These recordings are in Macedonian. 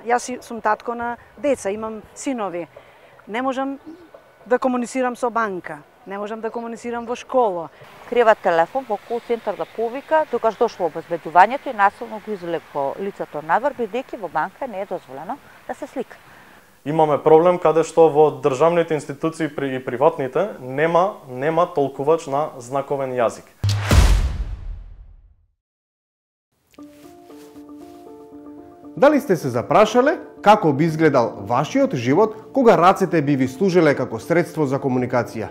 Јас сум татко на деца, имам синови. Не можам да комуницирам со банка, не можам да комуницирам во школа. Крива телефон во кол центар да повика, докаш дошло обезбедувањето и насилно го извлекло лицето надвор, бидејќи во банка не е дозволено да се слика. Имаме проблем каде што во државните институции и приватните нема толкувач на знаковен јазик. Дали сте се запрашале како би изгледал вашиот живот кога рацете би ви служеле како средство за комуникација?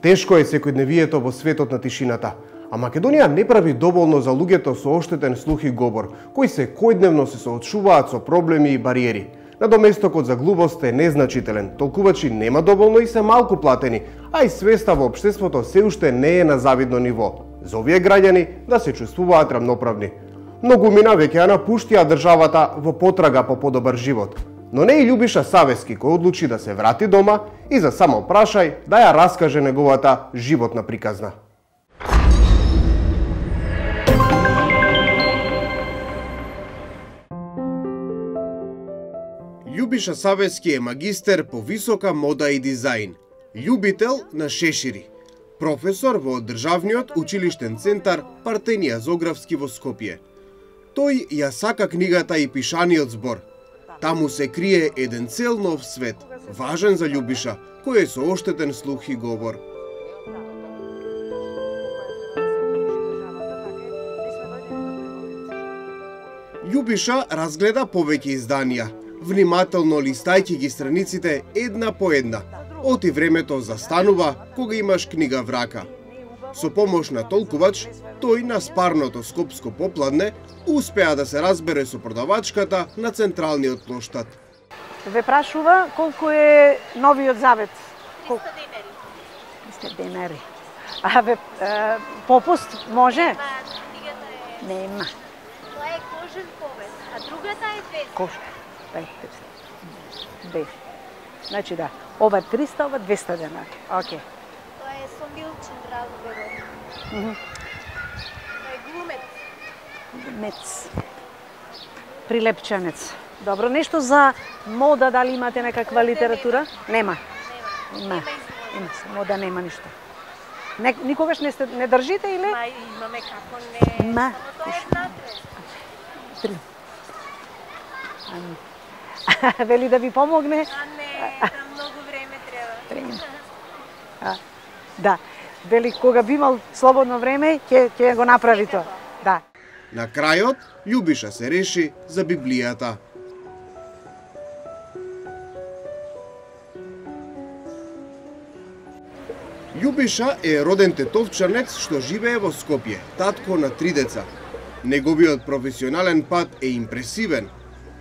Тешко е секојдневието во светот на тишината, а Македонија не прави доволно за луѓето со оштетен слух и говор, кои секојдневно се соочуваат со проблеми и бариери. Надоместокот за глубост е незначителен, толкувачи нема доволно и се малку платени, а и свеста во општеството се уште не е на завидно ниво. За овие граѓани да се чувствуваат рамноправни. Многумина веќе ја напуштија државата во потрага по подобар живот. Но не и Љубиша Савески, кој одлучи да се врати дома и за само прашај да ја раскаже неговата животна приказна. Љубиша Савески е магистер по висока мода и дизајн, љубител на шешири, професор во Државниот училиштен центар Партенија Зографски во Скопје. Тој ја сака книгата и пишаниот збор. Таму се крие еден цел нов свет, важен за Љубиша, кој е со оштетен слух и говор. Љубиша разгледа повеќе изданија, внимателно листајќи ги страниците една по една. Оти времето застанува кога имаш книга в рака. Со помош на толкувач, тој на спарното скопско попладне успеа да се разбере со продавачката на централниот плоштад. Ве прашува колку е новиот завет? 300 денари. А ве попуст може? Нема. Тоа е кожен повез, а другата е 200. Кожен. 200. Значи да, ова 300, ова 200 денари. Океј. Тоа е со Милчин разговор. Тоа е глумец. Мец. Прилепченец. Добро, нешто за мода, дали имате некаква литература? Нема. Има. Мода нема ништо. Никогаш не држите или? Ма имаме како не. Ма. Тоа е внатре. Вели да ви помогне? А не, многу време треба. Да. Вели кога би имал слободно време, ќе го направи тоа. Да. На крајот, Љубиша се реши за Библијата. Љубиша е роден тетовчанец што живее во Скопје, татко на 3 деца. Неговиот професионален пат е импресивен.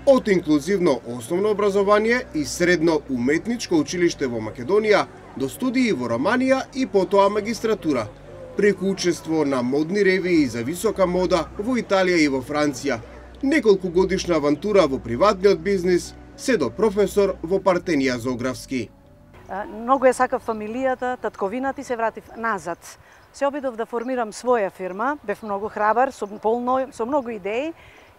Од инклузивно основно образование и средно уметничко училиште во Македонија до студии во Романија и потоа магистратура, преку учество на модни ревии за висока мода во Италија и во Франција, неколку годишна авантура во приватниот бизнис, се до професор во Партенија Зографски. Многу ја сакав фамилијата, татковината и се вратив назад. Се обидов да формирам своја фирма, бев многу храбар, со многу идеи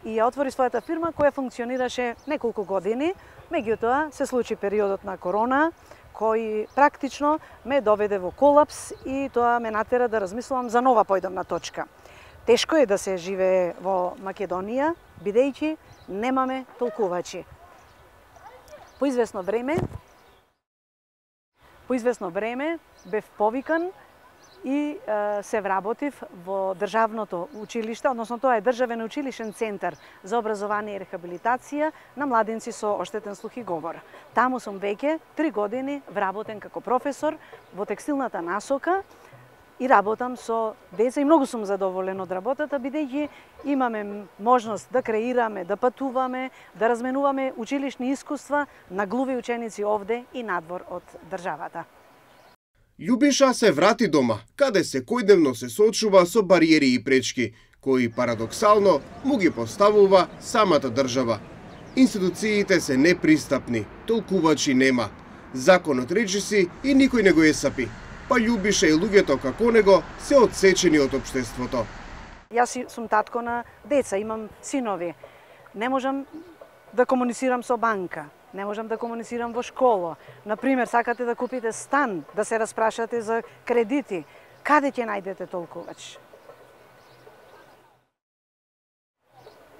и ја отвори својата фирма која функционираше неколку години. Меѓутоа се случи периодот на корона, кој практично ме доведе во колапс и тоа ме натера да размислувам за нова појдомна точка. Тешко е да се живее во Македонија, бидејќи немаме толкувачи. По известно време бев повикан и се вработив во државното училиште, односно тоа е државен училишен центар за образование и рехабилитација на младенци со оштетен слух и говор. Таму сум веќе 3 години вработен како професор во текстилната насока и работам со деца и многу сум задоволен од работата, бидејќи имаме можност да креираме, да патуваме, да разменуваме училишни искуства на глуви ученици овде и надвор од државата. Љубиша се врати дома, каде секојдневно се соочува со бариери и пречки, кои парадоксално му ги поставува самата држава. Институциите се непристапни, толкувачи нема. Законот речи си и никој не го есапи. Па Љубиша и луѓето како него се одсечени од општеството. Јас сум татко на деца, имам синови. Не можам да комуницирам со банка, не можам да комуницирам во школа. Например, сакате да купите стан, да се распрашате за кредити. Каде ќе најдете толкувач?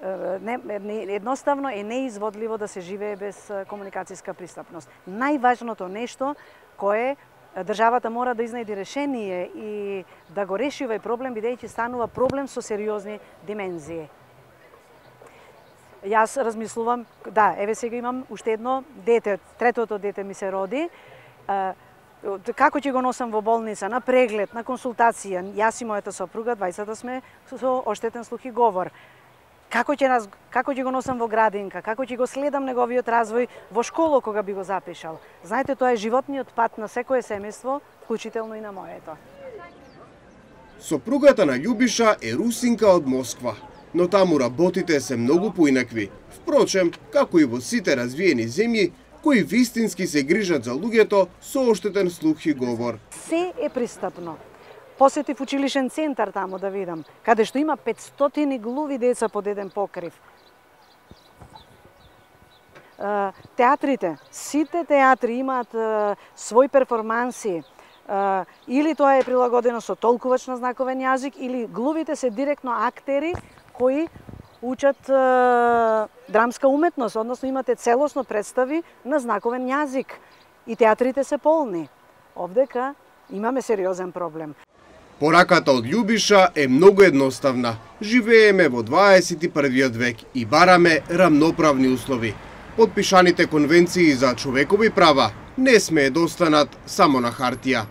Едноставно е неизводливо да се живее без комуникацијска пристапност. Најважното нешто кое државата мора да изнајди решение и да го реши овој проблем, бидејќи станува проблем со сериозни димензии. Јас размислувам, да, еве сега имам уште едно дете, третото дете ми се роди. Како ќе го носам во болница, на преглед, на консултација, јас и мојата сопруга, двајцата сме со оштетен слух и говор. Како ќе го носам во градинка, како ќе го следам неговиот развој во школа кога би го запишал. Знаете, тоа е животниот пат на секое семејство, вклучително и на моето. Сопругата на Љубиша е русинка од Москва, но таму работите се многу поинакви. Впрочем, како и во сите развиени земји, кои вистински се грижат за луѓето со оштетен слух и говор. Се е пристапно. Посетив училишен центар таму да видам, каде што има 500 глуви деца под еден покрив. Театрите, сите театри имаат свој перформанси, или тоа е прилагодено со толкувач на знаковен јазик, или глувите се директно актери кои учат драмска уметност, односно имате целосно представи на знаковен јазик. И театрите се полни. Овдека имаме сериозен проблем. Пораката од Љубиша е многу едноставна. Живееме во 21 век и бараме рамноправни услови. Подпишаните конвенции за човекови права не смее да останат само на хартија.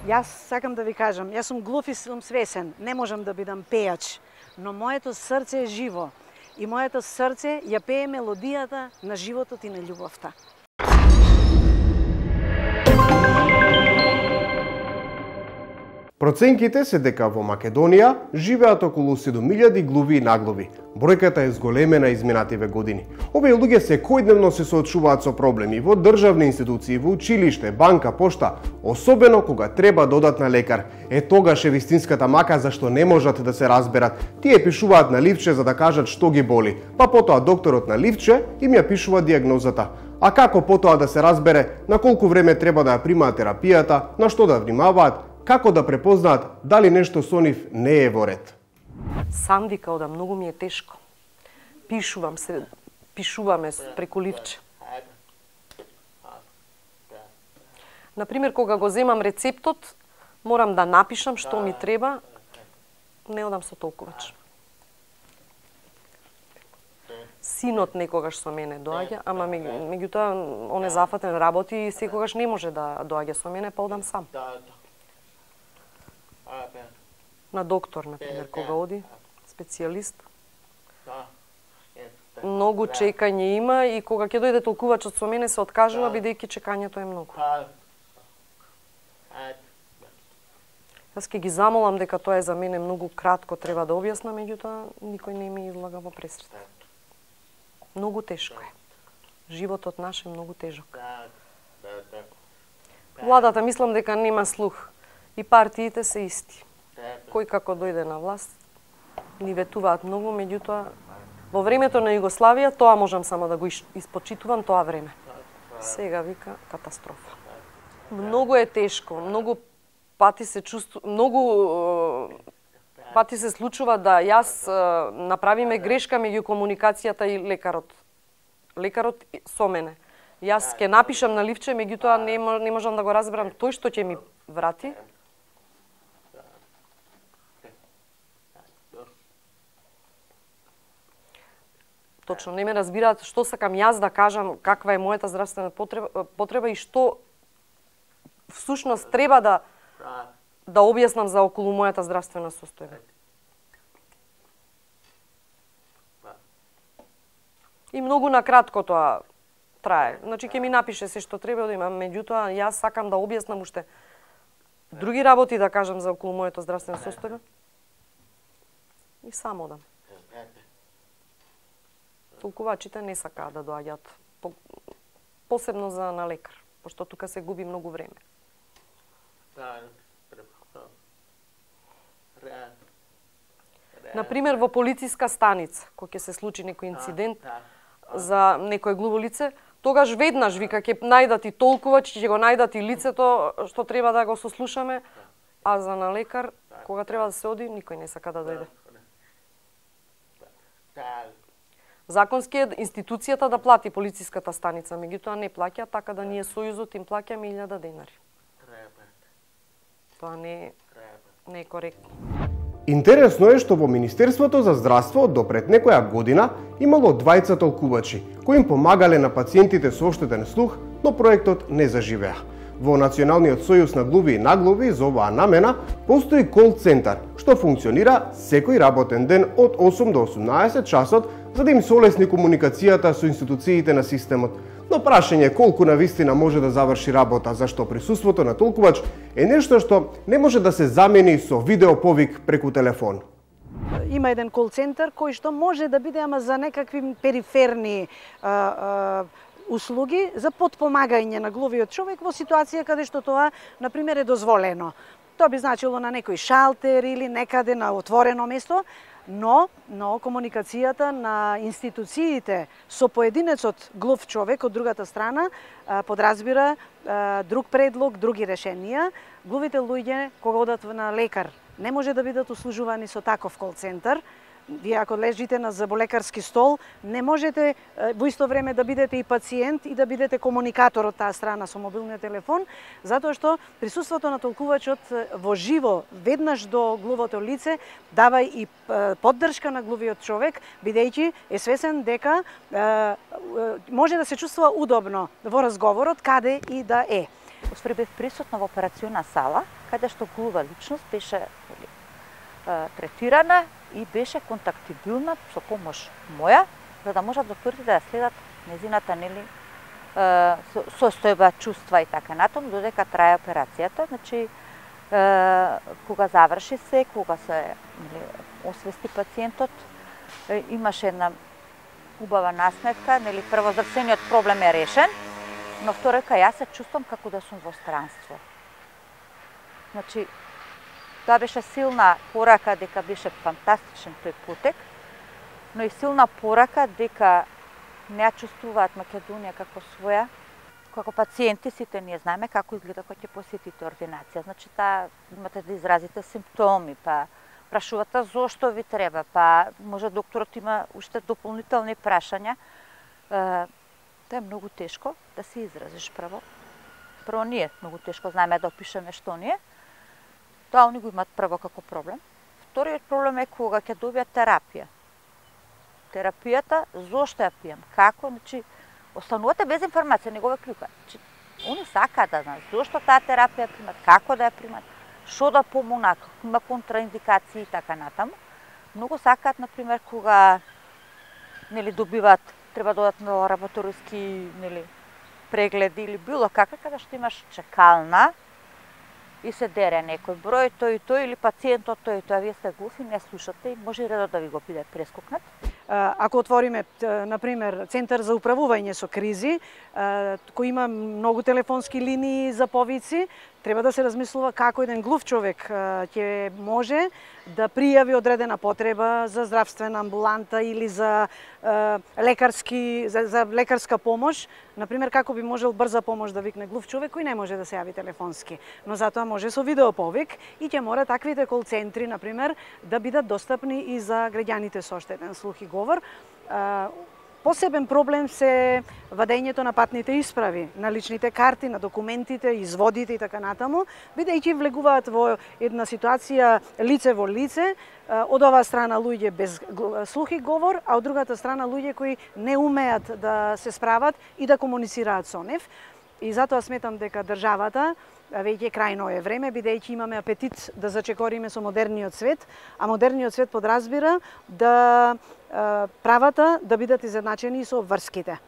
Јас сакам да ви кажам, јас сум глув и сум свесен, не можам да бидам пејач, но моето срце е живо и моето срце ја пее мелодијата на животот и на љубовта. Проценките се дека во Македонија живеат околу 7000 глуви и наглуви. Бројката е зголемена изминативе години. Овие луѓе секојдневно се соочуваат со проблеми во државни институции, во училиште, банка, пошта, особено кога треба да одат на лекар. Тогаш е вистинската мака зашто не можат да се разберат. Тие пишуваат на ливче за да кажат што ги боли, па потоа докторот на ливче им ја пишува дијагнозата. А како потоа да се разбере на колку време треба да ја примаат терапијата, на што да внимаваат, како да препознаат дали нешто со нив не е во ред? Сам вика да многу ми е тешко. Пишуваме преку ливче. Например, кога го земам рецептот, морам да напишам што ми треба, не одам со толкувач. Синот некогаш со мене доаѓа, ама меѓутоа он е зафатен, работи и секогаш не може да доаѓа со мене, па одам сам. На доктор, например, кога оди, специјалист. Многу чекање има и кога ќе дојде толкувачот со мене се откажува, бидејќи чекањето е многу. Јас ќе ги замолам дека тоа е за мене многу кратко, треба да објаснам, меѓутоа никој не ми излага во пресрет. Многу тешко е. Животот наш е многу тежок. Владата мислам дека нема слух. И партиите се исти. Кој како дојде на власт, ни ветуваат многу, меѓутоа во времето на Југославија тоа можам само да го испочитувам тоа време. Сега вика катастрофа. Многу е тешко, многу пати се случува да јас направиме грешка меѓу комуникацијата и лекарот. Лекарот со мене. Јас ќе напишам на ливче, меѓутоа не можам да го разберам тој што ќе ми врати. Точно, не ме разбираат што сакам јас да кажам, каква е мојата здравствена потреба и што всушност треба да објаснам за околу мојата здравствена состојба. И многу накратко тоа трае. Значи, ќе ми напише се што треба да имам, меѓутоа јас сакам да објаснам уште други работи да кажам за околу мојата здравствена состојба. И само одам. Толкувачите не сакаат да доаѓаат, посебно за на лекар, пошто тука се губи многу време. Например, во полициска станица, кога ќе се случи некој инцидент, за некое глуво лице, тогаш веднаш вика ќе најдат и толкувач, ќе го најдат и лицето што треба да го сослушаме, а за на лекар кога треба да се оди, никој не сака да дојде. Законски е институцијата да плати полициската станица, меѓутоа не плаќа, така да ние Сојузот им плаќаме 1000 денари. Тоа не е коректно. Интересно е што во Министерството за здравство до пред некоја година имало двајца толкувачи кои им помагале на пациентите со оштетен слух, но проектот не заживеа. Во Националниот сојуз на глуви и наглуви за оваа намена постои кол центар што функционира секој работен ден од 8 до 18 часот за да им се олесни комуникацијата со институциите на системот. Но прашање е колку навистина може да заврши работа, зашто присуството на толкувач е нешто што не може да се замени со видеоповик преку телефон. Има еден кол центар кој што може да биде ама за некакви периферни услуги за подпомагање на глувиот човек во ситуација каде што тоа, например, е дозволено. Тоа би значило на некој шалтер или некаде на отворено место, но комуникацијата на институциите со поединецот глув човек од другата страна подразбира друг предлог, други решенија. Глувите луѓе кога одат на лекар не може да бидат услужувани со таков кол центар. Вие ако лежите на заболекарски стол, не можете во исто време да бидете и пациент и да бидете комуникатор од таа страна со мобилниот телефон, затоа што присуството на толкувачот во живо, веднаш до глувото лице, дава и поддршка на глувиот човек, бидејќи е свесен дека може да се чувствува удобно во разговорот каде и да е. Успре бев присутна во операциона сала, каде што глува личност беше третирана и беше контактибилна со помош моја, за да можат докторите да ја следат незината состојба, чувства и така натаму, додека трае операцијата. Значи, кога заврши се, кога се освести пациентот, имаше една убава насмевка, прво здравствениот проблем е решен, но второ јас се чувствам како да сум во странство. Значи, тоа беше силна порака дека беше фантастичен тој потек, но и силна порака дека не ја чувствуваат Македонија како своја. Како пациенти сите ние знаеме како изгледа кога ќе посетите ординација. Значи, имате да изразите симптоми, па прашувате зошто ви треба, па може докторот има уште дополнителни прашања. Тоа е многу тешко да се изразиш прво. Прво ние многу тешко знаеме да опишеме што ние. Тоа они го имаат прво како проблем. Вториот проблем е кога ќе добијат терапија. Терапијата, зошто ја пијам, како, значи, останувате без информација, не го ве клюкат. Значи, они сакаат да знаат зошто таа терапија примат, како да ја примат, што да помогнат, има контраиндикации и така натаму. Многу сакаат, например, кога добиваат, треба да одат на лабораториски прегледи или било каква, каде што имаш чекална, и се дере некој број, тој и тој, или пациентот тој и тој, а вие сте глуви, не слушате и може редот да ви го биде прескокнат. Ако отвориме, например, Центар за управување со кризи, кој има многу телефонски линии за повици, треба да се размислува како еден глув човек ќе може да пријави одредена потреба за здравствена амбуланта или за лекарска помош. Например, како би можел брза помош да викне глув човек кој не може да се јави телефонски, но затоа може со видеоповик и ќе мора таквите кол центри, например, да бидат достапни и за граѓаните со оштетен слух и говор. Посебен проблем се вадењето на патните исправи, на личните карти, на документите, изводите и така натаму, бидејќи влегуваат во една ситуација лице во лице, од оваа страна луѓе без слух и говор, а од другата страна луѓе кои не умеат да се справат и да комуницираат со нив. И затоа сметам дека државата веќе крајно е време, бидејќи имаме апетит да зачекориме со модерниот свет, а модерниот свет подразбира да правата да бидат изедначени со обврските.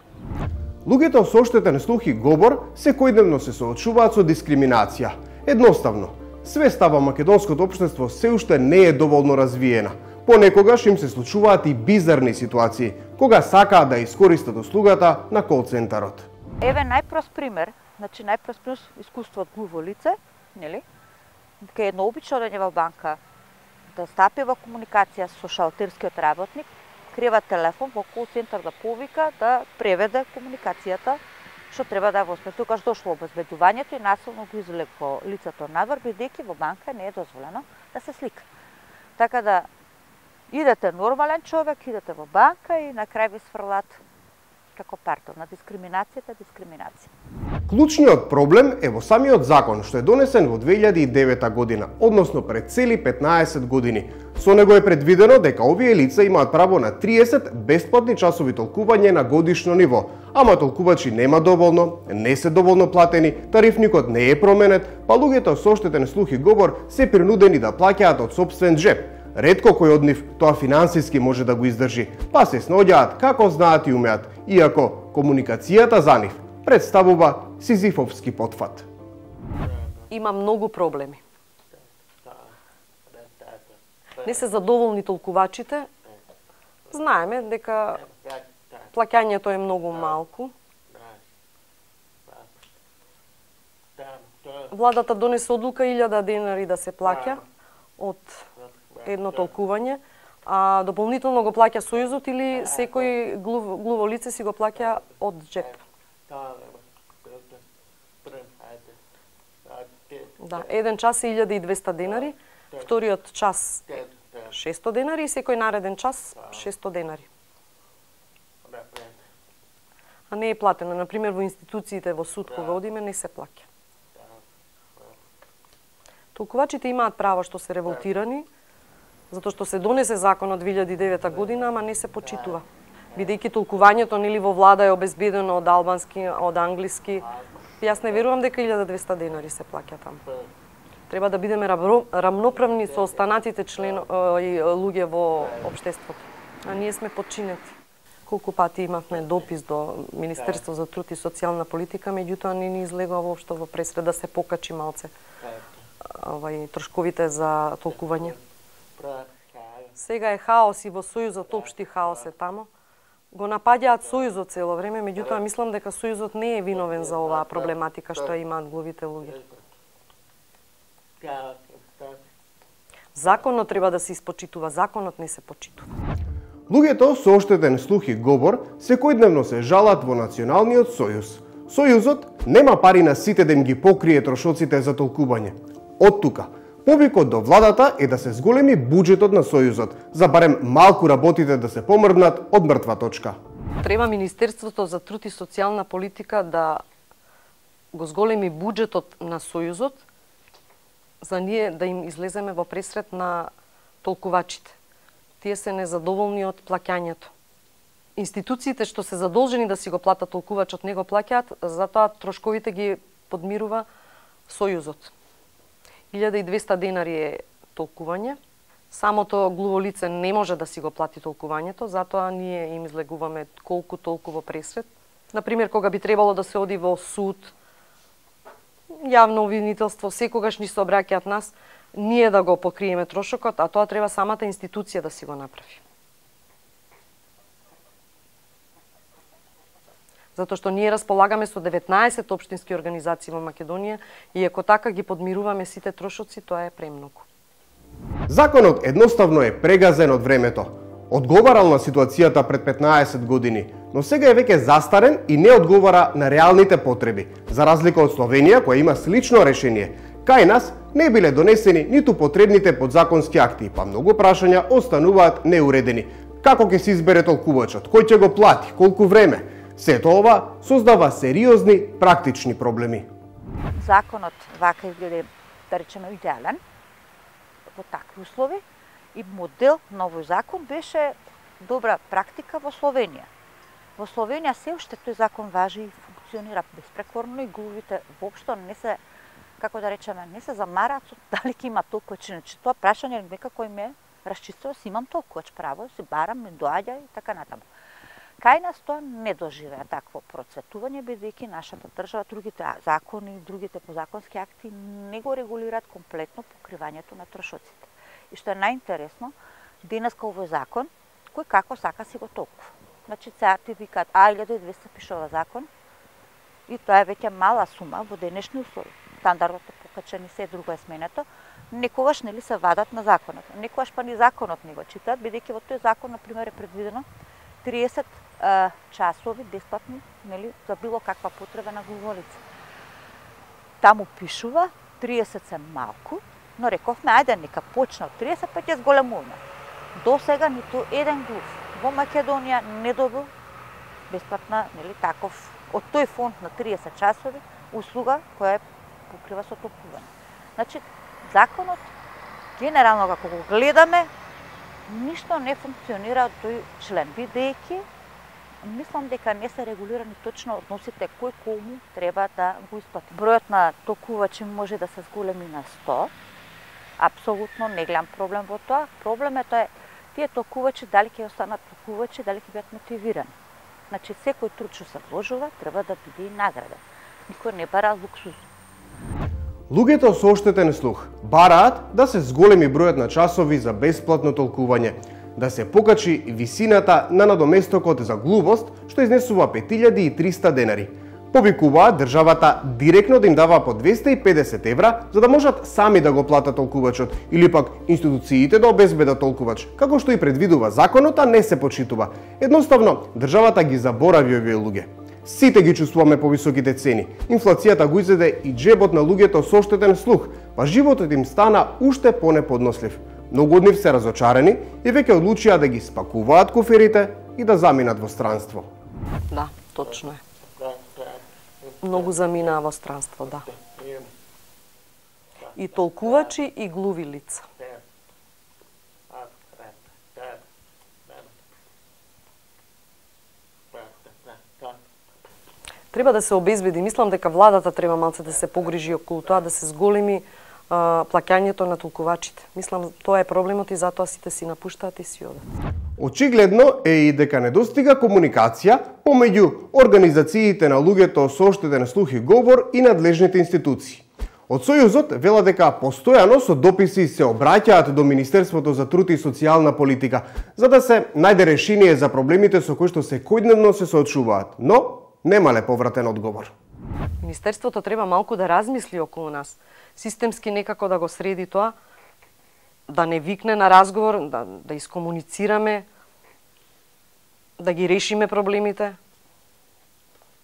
Луѓето со оштетен слух и говор секојдневно се соочуваат со дискриминација. Едноставно, свеста во македонското општество се уште не е доволно развиена. Понекогаш им се случуваат и бизарни ситуации, кога сакаат да искористат услугата на кол центарот. Еве најпрост пример, значи најпрост пример искуство од глуво лице, нели? Кај едно обично одење во банка да стапи во комуникација со шалтерскиот работник, крева телефон во кол центар да повика да преведе комуникацијата што треба да го спре. Тогаш дошло обезбедувањето и насилно го извлекло лицето надвор, бидејќи во банка не е дозволено да се слика. Така да идете нормален човек, идете во банка и на крај ви сфрлат како партнер на дискриминацијата. Клучниот проблем е во самиот закон што е донесен во 2009 година, односно пред цели 15 години. Со него е предвидено дека овие лица имаат право на 30 бесплатни часови толкување на годишно ниво, ама толкувачи нема доволно, не се доволно платени, тарифникот не е променет, па луѓето со оштетен слух и говор се принудени да плаќаат од сопствен джеп. Ретко кој од нив тоа финансиски може да го издржи, па се снаоѓаат како знаат и умеат, иако комуникацијата за нив представува сизифовски потфат. Има многу проблеми. Не се задоволни толкувачите. Знаеме дека плаќањето е многу малку. Владата донесе одлука 1000 денари да се плаќа од едно толкување, а дополнително го плаќа Сојузот или секој глуво лице си го плаќа од джеп. Да, еден час е 1200 денари, вториот час 600 денари и секој нареден час 600 денари. А не е платено. Например, во институциите, во суд, кога одиме, не се плаќа. Толкувачите имаат право што се револтирани, затоа што се донесе закон од 2009 година, ама не се почитува. Бидејќи толкувањето нели во влада е обезбедено од албански, од англиски, јас не верувам дека 1200 денари се плаќа таму. Треба да бидеме рамноправни со останатите и луѓе во општеството. А ние сме подчинети. Колку пати имавме допис до Министерство за труд и социјална политика, меѓутоа не ни излегува воопшто во пресред да се покачи малце трошковите за толкување. Сега е хаос и во Сојузот, општи хаос е тамо. Го напаѓаат Сојузот цело време, меѓутоа мислам дека Сојузот не е виновен за оваа проблематика што ја имаат глувите луѓе. Законот треба да се испочитува, законот не се почитува. Луѓето со оштетен слух и говор секојдневно се жалат во Националниот сојуз. Сојузот нема пари на сите да им ги покрие трошоците за толкување. Од тука, повикот до владата е да се зголеми буџетот на Сојузот, за барем малку работите да се помрднат од мртва точка. Треба Министерството за труд и социјална политика да го зголеми буџетот на Сојузот, за ние да им излеземе во пресред на толкувачите. Тие се незадоволни од плаќањето. Институциите што се задолжени да си го платат толкувачот не го плаќаат, затоа трошковите ги подмирува Сојузот. 1200 денари е толкување. Самото глуво лице не може да си го плати толкувањето, затоа ние им излегуваме колку толку во пресред. Например, кога би требало да се оди во суд, јавно обвинителство, секогаш ни се обраќаат нас, ние да го покриеме трошокот, а тоа треба самата институција да си го направи. Затоа што ние располагаме со 19 општински организации во Македонија и ако така ги подмируваме сите трошоци, тоа е премногу. Законот едноставно е прегазен од времето. Одговарал на ситуацијата пред 15 години, но сега е веќе застарен и не одговара на реалните потреби, за разлика од Словенија која има слично решение. Кај нас не биле донесени ниту потребните подзаконски акти, па многу прашања остануваат неуредени. Како ќе се избере толкувачот, кој ќе го плати, колку време? Сето ова создава сериозни практични проблеми. Законот вака изгледа, да речеме, идеален во такви услови и модел на овој закон беше добра практика во Словенија. Во Словенија се уште тој закон важи и функционира безпрекорно и глувите воопшто не се, како да речеме, не се замараат со дали ќе има толкувач, иначе тоа прашање некако им е расчистено, си имам толкувач право, си барам, не доаѓа и така натаму. Кај нас тоа не доживеа такво процветување, бидејќи нашата држава, другите закони, другите подзаконски акти не го регулираат комплетно покривањето на трошоците. И што е најинтересно, денеска овој закон, кој како сака си го толкува. Значи, сега ти викаат, 1200 пишува закон, и тоа е веќе мала сума во денешни услови. Стандардот е покачен и се друго е сменето, некогаш нели се вадат на законот. Некогаш па ни законот не го читаат, бидејќи во тој закон на пример е предвидено 30 часови бесплатни, нели, за било каква потреба на глуволица. Таму пишува 30 се малку, но рековме ајде нека почне од 30 па ќе зголемуваме. До сега ниту еден глув во Македонија не добил бесплатна, нели, таков од тој фонд на 30 часови услуга која покрива со толкување. Значи, законот, генерално како го гледаме, ништо не функционира од тој член, бидејќи мислам дека не се регулирани точно односите кој кому треба да го исплати. Бројот на толкувачи може да се зголеми на 100. Апсолутно не гледам проблем во тоа. Проблемот е тие толкувачи дали ќе останат толкувачи, дали ќе бидат мотивирани. Значи секој труд што се вложува треба да биде и награден. Никој не бара луксуз. Луѓето со оштетен слух бараат да се зголеми бројот на часови за бесплатно толкување, да се покачи висината на надоместокот за глувост, што изнесува 5300 денари. Повикуваат државата директно да им дава по 250 евра, за да можат сами да го платат толкувачот, или пак институциите да обезбедат толкувач, како што и предвидува законот, а не се почитува. Едноставно, државата ги заборави овие луѓе. Сите ги чувствуваме повисоките цени. Инфлацијата го изеде и джебот на луѓето со оштетен слух, па животот им стана уште понеподнослив. Многу од нив се разочарени и веќе одлучија да ги спакуваат куферите и да заминат во странство. Да, точно е. Многу заминаа во странство, да. И толкувачи и глуви лица. Треба да се обезбеди, мислам дека владата треба малце да се погрижи околу тоа, да се зголеми плаќањето на толкувачите. Мислам, тоа е проблемот и затоа сите си напуштаат и си одат. Очигледно е и дека недостига комуникација помеѓу организациите на луѓето со оштетен слух и говор и надлежните институции. Од Сојузот вела дека постојано со дописи се обраќаат до Министерството за труд и социјална политика, за да се најде решение за проблемите со кои што секојдневно се соочуваат, но немале повратен одговор. Министерството треба малку да размисли околу нас. Системски некако да го среди тоа, да не викне на разговор, да искомуницираме, да ги решиме проблемите.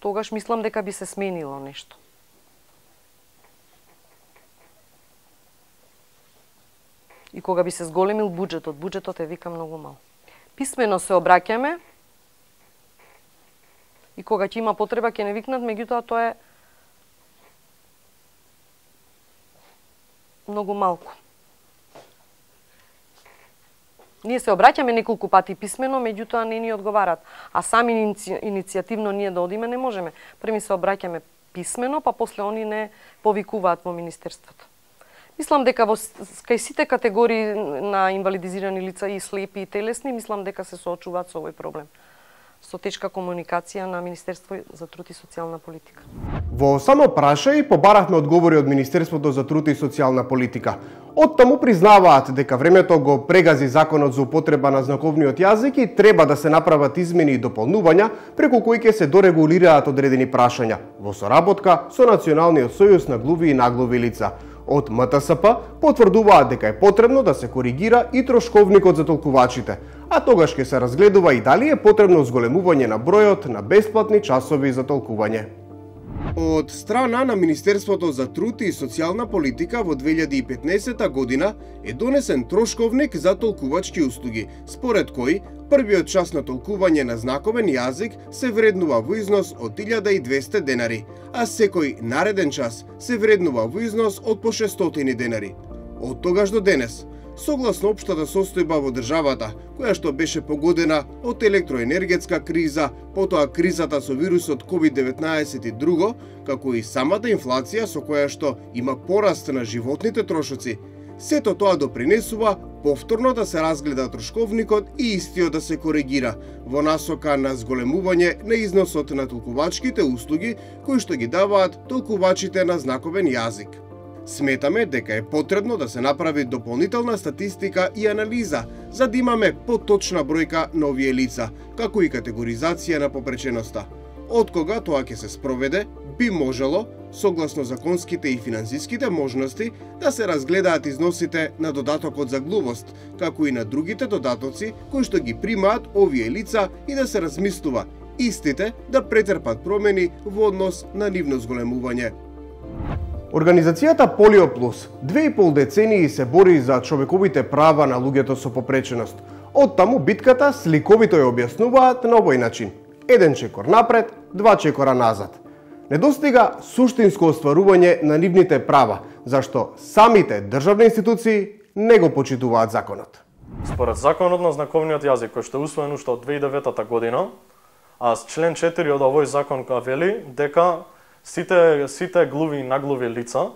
Тогаш мислам дека би се сменило нешто. И кога би се зголемил буџетот е вика многу мал. Писмено се обраќаме и кога ќе има потреба ќе не викнат, меѓутоа тоа е многу малку. Ние се обраќаме неколку пати писмено, меѓутоа не ни одговарат. А сами иницијативно ние да одиме не можеме. Преми се обраќаме писмено, па после они не повикуваат во Министерството. Мислам дека кај сите категории на инвалидизирани лица и слепи и телесни, мислам дека се соочуваат со овој проблем. Со тешка комуникација на Министерство за труд и социјална политика. Во само прашај побаравме одговори од Министерството за труд и социјална политика. Оттаму признаваат дека времето го прегази законот за употреба на знаковниот јазик и треба да се направат измени и дополнувања преку кои ќе се дорегулираат одредени прашања во соработка со Националниот сојуз на глуви и наглуви лица. Од МТСП потврдуваат дека е потребно да се коригира и трошковникот за толкувачите, а тогаш ќе се разгледува и дали е потребно зголемување на бројот на бесплатни часови за толкување. Од страна на Министерството за труд и социјална политика во 2015 година е донесен трошковник за толкувачки услуги, според кој првиот час на толкување на знаковен јазик се вреднува во износ од 1200 денари, а секој нареден час се вреднува во износ од по 600 денари. Од тогаш до денес, согласно општата состојба во државата, која што беше погодена од електроенергетска криза, потоа кризата со вирусот COVID-19 и друго, како и самата инфлација со која што има пораст на животните трошоци, сето тоа допринесува повторно да се разгледа трошковникот и истиот да се коригира во насока на зголемување на износот на толкувачките услуги кои што ги даваат толкувачите на знаковен јазик. Сметаме дека е потребно да се направи дополнителна статистика и анализа за да имаме поточна бројка на овие лица, како и категоризација на попреченоста. Од кога тоа ќе се спроведе, би можело, согласно законските и финансиските можности, да се разгледаат износите на додатокот за глувост, како и на другите додатоци кои што ги примаат овие лица и да се размислува истите да претрпат промени во однос на нивно зголемување. Организацијата Полио Плюс 2,5 децении се бори за човековите права на луѓето со попреченост. Оттаму битката сликовито ја објаснуваат на овој начин. 1 чекор напред, 2 чекора назад. Недостига суштинско остварување на нивните права, зашто самите државни институции не го почитуваат законот. Според законот на знаковниот јазик, кој што е усвоен уште од 2009 година, а с член 4 од овој закон вели дека сите глуви и наглуви лица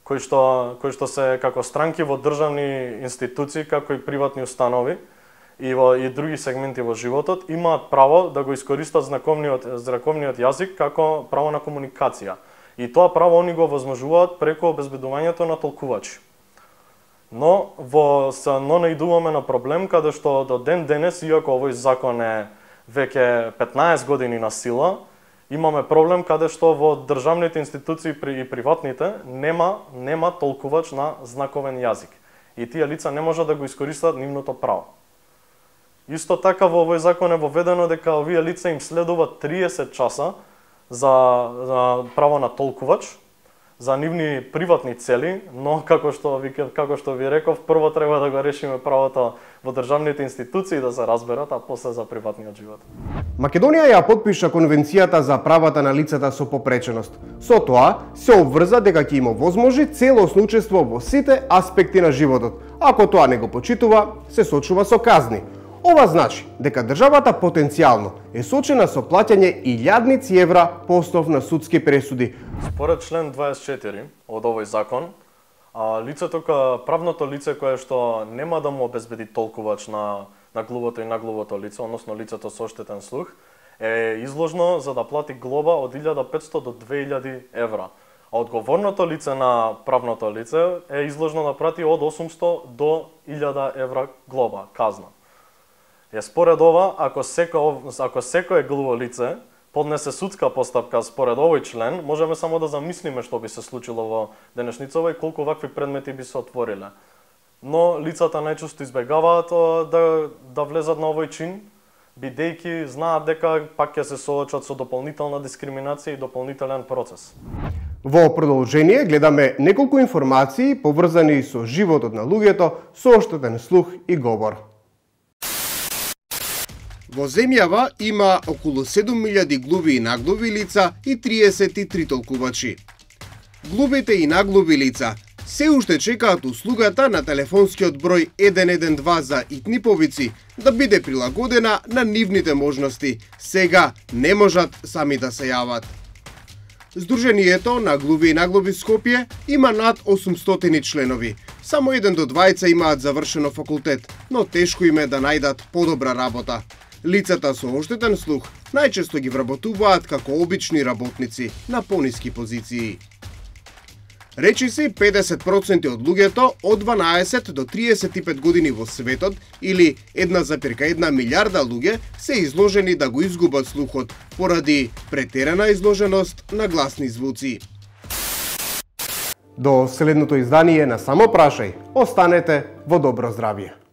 кои што се како странки во државни институции, како и приватни установи и други сегменти во животот, имаат право да го искористат знаковниот јазик како право на комуникација. И тоа право они го возможуваат преку обезбедувањето на толкувачи. Но наидуваме на проблем каде што до ден денес, иако овој закон е веќе 15 години на сила, имаме проблем каде што во државните институции и приватните нема толкувач на знаковен јазик. И тие лица не можат да го искористат нивното право. Исто така во овој закон е воведено дека овие лица им следува 30 часа за право на толкувач за нивни приватни цели, но како што ви реков, прво треба да го решиме правото во државните институции да се разберат, а после за приватниот живот. Македонија ја потпиша Конвенцијата за правата на лицата со попреченост. Со тоа се обврза дека ќе има возможи целосно учество во сите аспекти на животот. Ако тоа не го почитува, се сочува со казни. Ова значи дека државата потенцијално е сочена со плаќање илјадници евра по основ на судски пресуди. Според член 24 од овој закон, правното лице кое што нема да му обезбеди толкувач на глувото и наглувото лице, односно лицето со оштетен слух, е изложно за да плати глоба од 1500 до 2000 евра. А одговорното лице на правното лице е изложно да плати од 800 до 1000 евра глоба, казна. Според ова, ако секое глуво лице поднесе судска постапка според овој член, можеме само да замислиме што би се случило во денешницава и колку вакви предмети би се отвориле. Но лицата најчесто избегаваат да влезат на овој чин, бидејќи знаат дека пак ќе се соочат со дополнителна дискриминација и дополнителен процес. Во продолжение гледаме неколку информации поврзани со животот на луѓето со оштетен слух и говор. Во земјава има околу 7000 глуви и наглуви лица и 33 толкувачи. Глувите и наглуви лица се уште чекаат услугата на телефонскиот број 112 за итни повици да биде прилагодена на нивните можности. Сега не можат сами да се јават. Сдруженијето на глуви и наглуви Скопје има над 800 членови. Само 1 до 2 имаат завршено факултет, но тешко им е да најдат подобра работа. Лицата со оштетен слух најчесто ги вработуваат како обични работници на пониски позиции. Речи се 50% од луѓето од 12 до 35 години во светот или 1,1 милиарда луѓе се изложени да го изгубат слухот поради претерана изложеност на гласни звуци. До следното издание на Само прашај, останете во добро здравје.